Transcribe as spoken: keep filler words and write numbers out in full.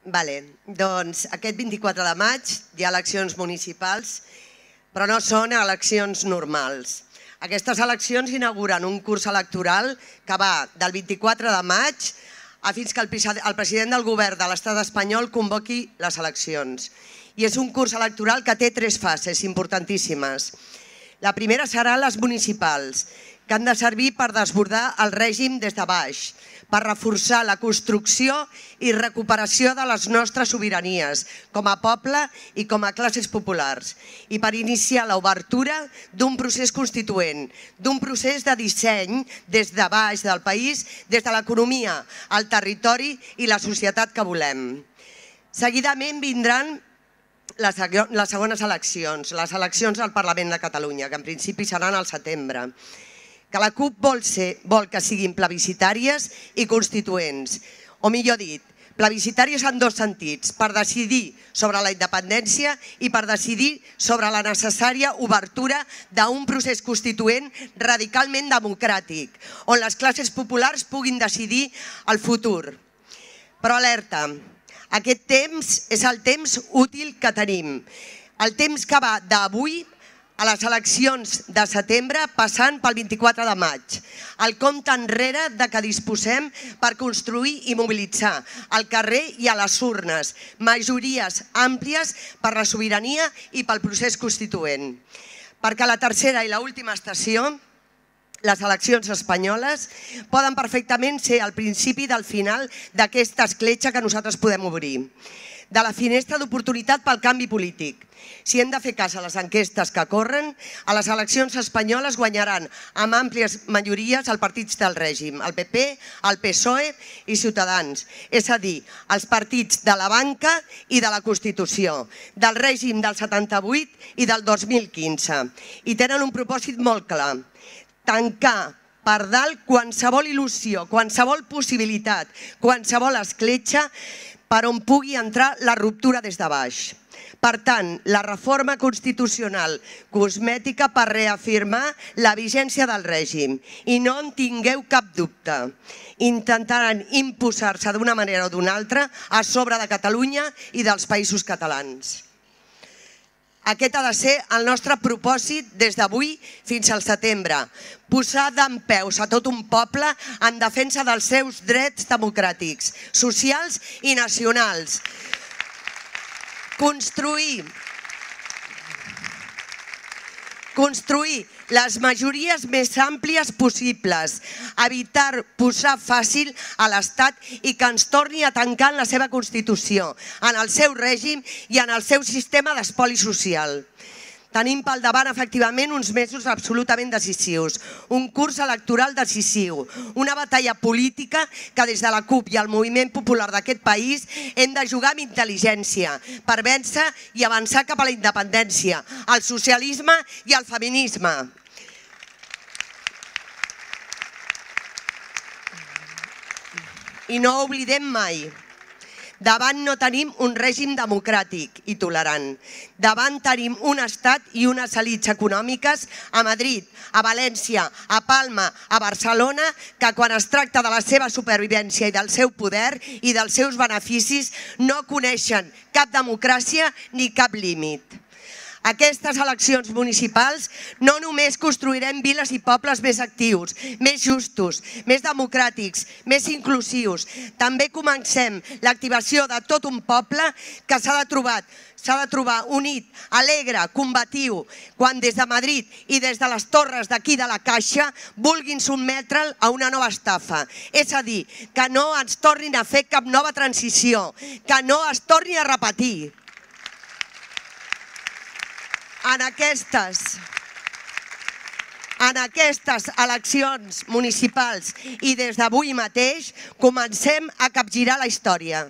Vale, doncs aquest vint-i-quatre de maig hi ha eleccions municipals, però no són eleccions normals. Aquestes eleccions inauguren un curs electoral que va del vint-i-quatre de maig a fins que el president del govern de l'estat espanyol convoqui les eleccions. I és un curs electoral que té tres fases importantíssimes. La primera seran les municipals, que han de servir per desbordar el règim des de baix, per reforçar la construcció i recuperació de les nostres sobiranies com a poble i com a classes populars, i per iniciar l'obertura d'un procés constituent, d'un procés de disseny des de baix del país, des de l'economia, el territori i la societat que volem. Seguidament vindran les segones eleccions, les eleccions al Parlament de Catalunya, que en principi seran al setembre, que la CUP vol que siguin plebiscitàries i constituents, o millor dit, plebiscitàries en dos sentits, per decidir sobre la independència i per decidir sobre la necessària obertura d'un procés constituent radicalment democràtic, on les classes populars puguin decidir el futur. Però alerta, aquest temps és el temps útil que tenim, el temps que va d'avui a les eleccions de setembre passant pel vint-i-quatre de maig, el compte enrere de què disposem per construir i mobilitzar al carrer i a les urnes majories àmplies per la sobirania i pel procés constituent. Perquè la tercera i l'última estació, les eleccions espanyoles, poden perfectament ser el principi del final d'aquesta escletxa que nosaltres podem obrir, de la finestra d'oportunitat pel canvi polític. Si hem de fer cas a les enquestes que corren, a les eleccions espanyoles guanyaran amb àmplies majories els partits del règim, el P P, el P S O E i Ciutadans, és a dir, els partits de la banca i de la Constitució, del règim del setanta-vuit i del dos mil quinze. I tenen un propòsit molt clar, tancar per dalt qualsevol il·lusió, qualsevol possibilitat, qualsevol escletxa per on pugui entrar la ruptura des de baix. Per tant, la reforma constitucional cosmètica per reafirmar la vigència del règim. I no en tingueu cap dubte. Intentaran imposar-se d'una manera o d'una altra a sobre de Catalunya i dels països catalans. Aquest ha de ser el nostre propòsit des d'avui fins al setembre. Posar dempeus a tot un poble en defensa dels seus drets democràtics, socials i nacionals. Construir Construir les majories més àmplies possibles, evitar posar fàcil a l'Estat i que ens torni a tancar en la seva Constitució, en el seu règim i en el seu sistema d'espoli social. Tenim pel davant, efectivament, uns mesos absolutament decisius, un curs electoral decisiu, una batalla política que des de la CUP i el moviment popular d'aquest país hem de jugar amb intel·ligència per vèncer i avançar cap a la independència, al socialisme i al feminisme. I no oblidem mai, davant no tenim un règim democràtic i tolerant. Davant tenim un estat i unes elits econòmiques a Madrid, a València, a Palma, a Barcelona, que quan es tracta de la seva supervivència i del seu poder i dels seus beneficis no coneixen cap democràcia ni cap límit. Aquestes eleccions municipals no només construirem viles i pobles més actius, més justos, més democràtics, més inclusius. També comencem l'activació de tot un poble que s'ha de trobar s'ha de trobar unit, alegre, combatiu, quan des de Madrid i des de les torres d'aquí de la Caixa vulguin sotmetre'l a una nova estafa. És a dir, que no ens tornin a fer cap nova transició, que no es torni a repetir. En aquestes, en aquestes eleccions municipals i des d'avui mateix comencem a capgirar la història.